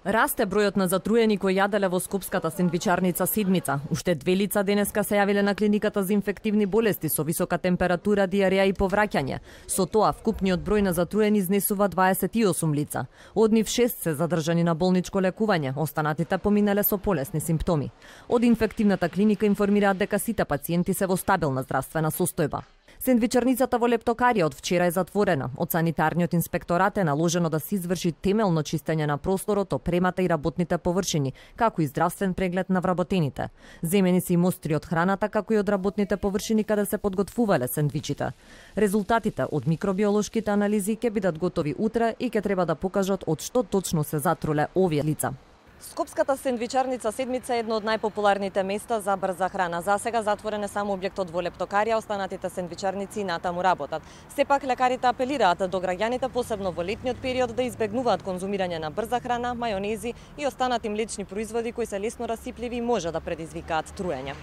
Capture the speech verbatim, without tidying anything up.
Расте бројот на затруени кои јаделе во скопската сендвичарница Седмица. Уште две лица денеска се јавиле на клиниката за инфективни болести со висока температура, диареја и повраќање. Со тоа вкупниот број на затруени изнесува дваесет и осум лица. Од нив шест се задржани на болничко лекување, останатите поминале со полесни симптоми. Од инфективната клиника информираат дека сите пациенти се во стабилна здравствена состојба. Сендвичарницата во Лептокарија од вчера е затворена. Од санитарниот инспекторат е наложено да се изврши темелно чистење на просторот, опремата и работните површини, како и здравствен преглед на вработените. Земени се и мостри од храната, како и од работните површини каде се подготвувале сендвичите. Резултатите од микробиолошките анализи ќе бидат готови утре и ќе треба да покажат од што точно се затруле овие лица. Скопската сендвичарница Седмица е едно од најпопуларните места за брза храна. За сега затворен е само објектот во Лептокарија, останатите сендвичарници натаму работат. Сепак лекарите апелираат до граѓаните, посебно во летниот период, да избегнуваат конзумирање на брза храна, мајонези и останати млечни производи кои се лесно расипливи и може да предизвикаат труење.